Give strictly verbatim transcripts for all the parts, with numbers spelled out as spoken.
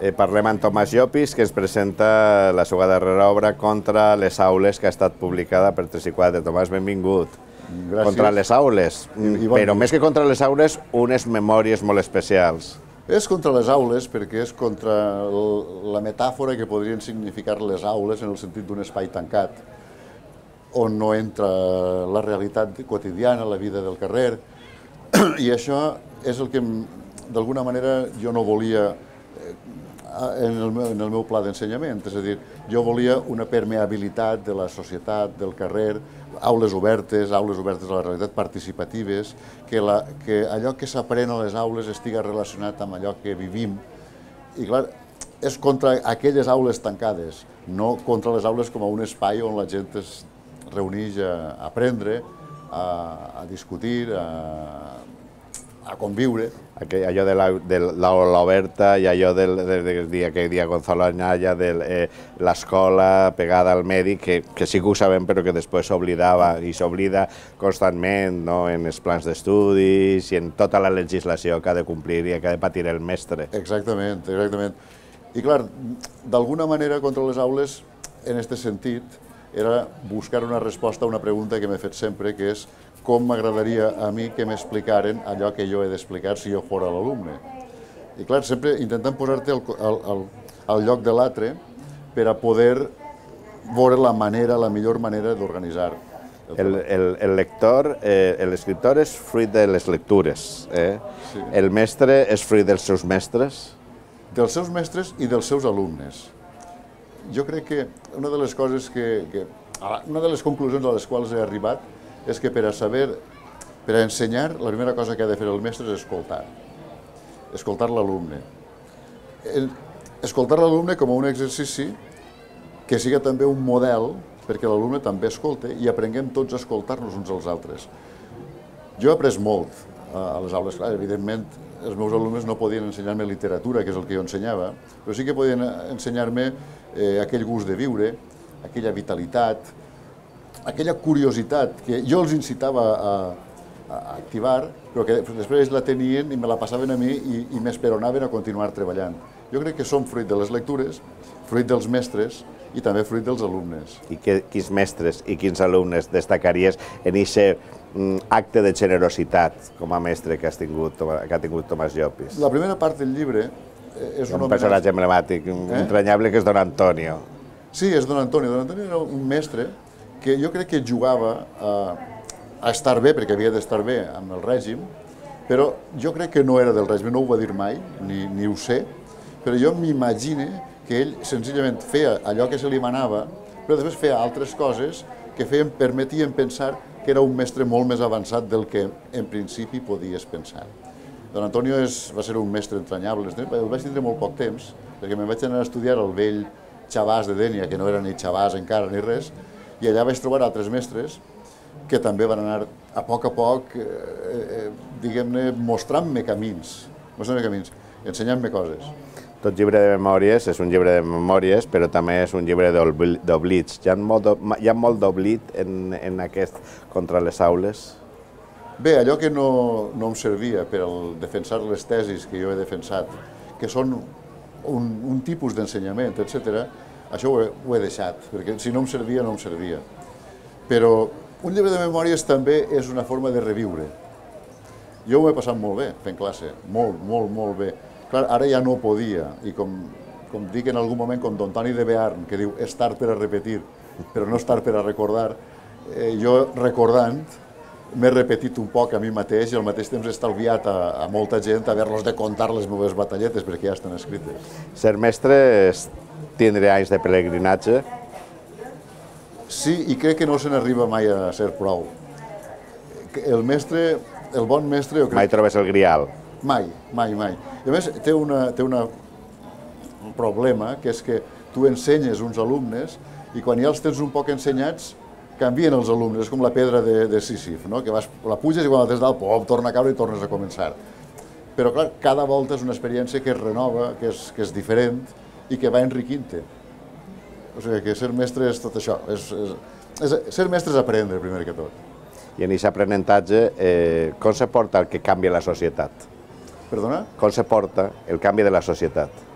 Eh, parlem amb Tomàs Llopis, que ens presenta la seva darrera obra Contra les aules, que ha estat publicada per tres i quatre. Tomàs, benvingut. Gràcies. Contra les aules, I, i bon però dia. més que contra les aules, unes memòries molt especials. És contra les aules perquè és contra la metàfora que podrien significar les aules en el sentit d'un espai tancat, on no entra la realitat quotidiana, la vida del carrer, i això és el que d'alguna manera jo no volia en el meu, en el meu pla d'ensenyament, és a dir, jo volia una permeabilitat de la societat, del carrer, aules obertes, aules obertes a la realitat, participatives, que, la, que allò que s'aprèn a les aules estiga relacionat amb allò que vivim. I clar, és contra aquelles aules tancades, no contra les aules com a un espai on la gent es reuneix a aprendre, a, a discutir, a, a conviure. Allò de l'aula oberta i allò del dia que dia Gonzalo Anaya, de l'escola pegada al medi, que sí que ho sabem però que després s'oblidava i s'oblida constantment en els plans d'estudis i en tota la legislació que ha de complir i que ha de patir el mestre. Exactament, exactament. I clar, d'alguna manera contra les aules, en aquest sentit, era buscar una resposta a una pregunta que m'he fet sempre, que és com m'agradaria a mi que m'explicaren allò que jo he d'explicar si jo fora l'alumne. I clar, sempre intentant posar-te al, al, al lloc de l'altre per a poder veure la manera, la millor manera d'organitzar. El, el, el lector, eh, l'escriptor és fruit de les lectures, eh? Sí. El mestre és fruit dels seus mestres? Dels seus mestres i dels seus alumnes. Jo crec que una de les coses que, que una de les conclusions a les quals he arribat és que per a saber, per a ensenyar, la primera cosa que ha de fer el mestre és escoltar. Escoltar l'alumne. Escoltar l'alumne com a un exercici que siga també un model perquè l'alumne també escolte i aprenguem tots a escoltar-nos uns als altres. Jo he après molt a les aules, clar, evidentment els meus alumnes no podien ensenyar-me literatura, que és el que jo ensenyava, però sí que podien ensenyar-me eh, aquell gust de viure, aquella vitalitat, aquella curiositat que jo els incitava a, a activar, però que després ells la tenien i me la passaven a mi i, i m'esperonaven a continuar treballant. Jo crec que som fruit de les lectures, fruit dels mestres i també fruit dels alumnes. I que, quins mestres i quins alumnes destacaries en aquest mm, acte de generositat com a mestre que, has tingut, que ha tingut Tomàs Llopis? La primera part del llibre és un, un personatge emblemàtic, eh? entranyable, que és Don Antonio. Sí, és Don Antonio. Don Antonio era un mestre que jo crec que jugava a, a estar bé, perquè havia d'estar bé amb el règim, però jo crec que no era del règim, no ho va dir mai, ni, ni ho sé, però jo m'imagine que ell senzillament feia allò que se li manava, però després feia altres coses que feien, permetien pensar que era un mestre molt més avançat del que en principi podies pensar. Don Antonio és, va ser un mestre entranyable, el vaig tindre molt poc temps, perquè me'n vaig anar a estudiar al vell Xavàs de Dénia, que no era ni Xavàs encara ni res, i allà vaig trobar altres mestres que també van anar a poc a poc, eh, eh, diguem-ne, mostrant-me camins, mostrant-me camins, ensenyant-me coses. Tot llibre de memòries és un llibre de memòries, però també és un llibre d'oblits. Hi ha molt d'oblit en, en aquest Contra les aules? Bé, allò que no, no em servia per al defensar les tesis que jo he defensat, que són un, un tipus d'ensenyament, etcètera, això ho he, ho he deixat, perquè si no em servia, no em servia. Però un llibre de memòries també és una forma de reviure. Jo ho he passat molt bé fent classe, molt, molt, molt bé. Clar, ara ja no podia, i com, com dic en algun moment, com Don Toni de Bearn, que diu, és tard per a repetir, però no és tard per a recordar, eh, jo recordant m'he repetit un poc a mi mateix i al mateix temps he estalviat a, a molta gent haver-los de contar les meves batalletes, perquè ja estan escrites. Ser mestre és tindre anys de pelegrinatge? Sí, i crec que no se n'arriba mai a ser prou. El mestre, el bon mestre... Mai trobes el grial? Mai, mai, mai. I a més, té, una, té una, un problema, que és que tu ensenyes uns alumnes i quan ja els tens un poc ensenyats, canvien els alumnes, és com la pedra de, de Sísif, no? Que vas, la puges i quan la tens dalt, pop, torna a caure i tornes a començar. Però clar, cada volta és una experiència que es renova, que és, que és diferent i que va enriquint-te. O sigui que ser mestre és tot això. És, és, és, ser mestre és aprendre, primer que tot. I en aquest aprenentatge, eh, com se porta el que canvia la societat? Perdona? Com se porta el canvi de la societat?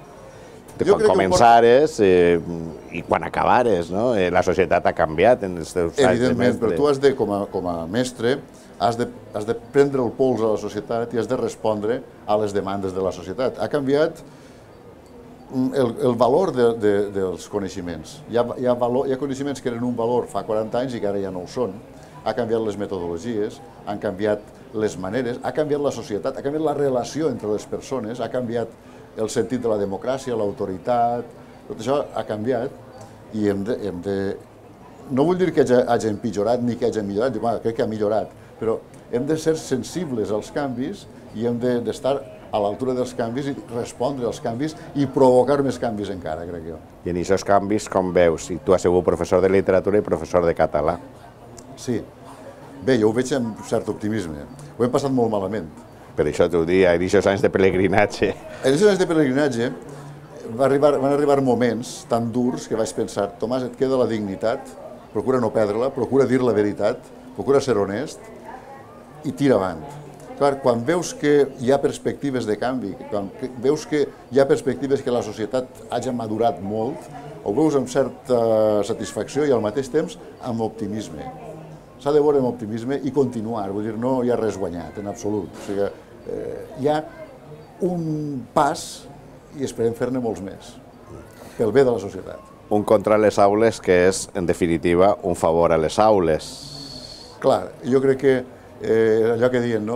quan començares i quan acabares, no? La societat ha canviat en els teus anys de mestre. Evidentment, però tu has de, com a mestre, has de prendre el pols a la societat i has de respondre a les demandes de la societat. Ha canviat el valor dels coneixements. Hi ha coneixements que eren un valor fa quaranta anys i que ara ja no ho són. Ha canviat les metodologies, han canviat les maneres, ha canviat la societat, ha canviat la relació entre les persones, ha canviat el sentit de la democràcia, l'autoritat, tot això ha canviat i hem de... No vull dir que hagi empitjorat ni que hagi millorat, crec que ha millorat, però hem de ser sensibles als canvis i hem d'estar a l'altura dels canvis i respondre als canvis i provocar més canvis encara, crec jo. I en aquests canvis, com veus? Tu has sigut professor de literatura i professor de català. Sí. Bé, jo ho veig amb cert optimisme. Ho hem passat molt malament. Per això t'ho dic, en aquests anys de pelegrinatge. En aquests anys de pelegrinatge van arribar moments tan durs que vaig pensar, Tomàs, et queda la dignitat, procura no perdre-la, procura dir la veritat, procura ser honest i tira avant. Clar, quan veus que hi ha perspectives de canvi, quan veus que hi ha perspectives que la societat hagi madurat molt, ho veus amb certa satisfacció i al mateix temps amb optimisme. S'ha de veure amb optimisme i continuar, vull dir, no hi ha res guanyat, en absolut. O sigui, hi ha un pas i esperem fer-ne molts més, pel bé de la societat. Un contra les aules que és, en definitiva, un favor a les aules. Clar, jo crec que allò que diuen,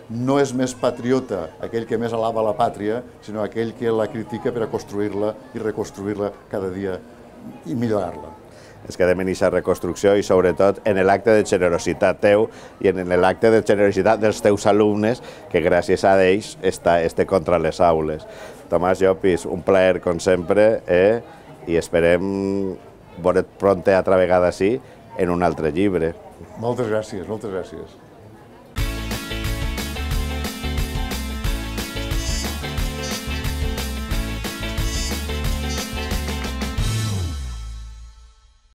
no és més patriota aquell que més alaba la pàtria, sinó aquell que la critica per a construir-la i reconstruir-la cada dia i millorar-la. Es quedem en aquesta reconstrucció i sobretot en l'acte de generositat teu i en l'acte de generositat dels teus alumnes que gràcies a ells està este contra les aules. Tomàs Llopis, un plaer com sempre i esperem veure't pront altra vegada sí en un altre llibre. Moltes gràcies, moltes gràcies.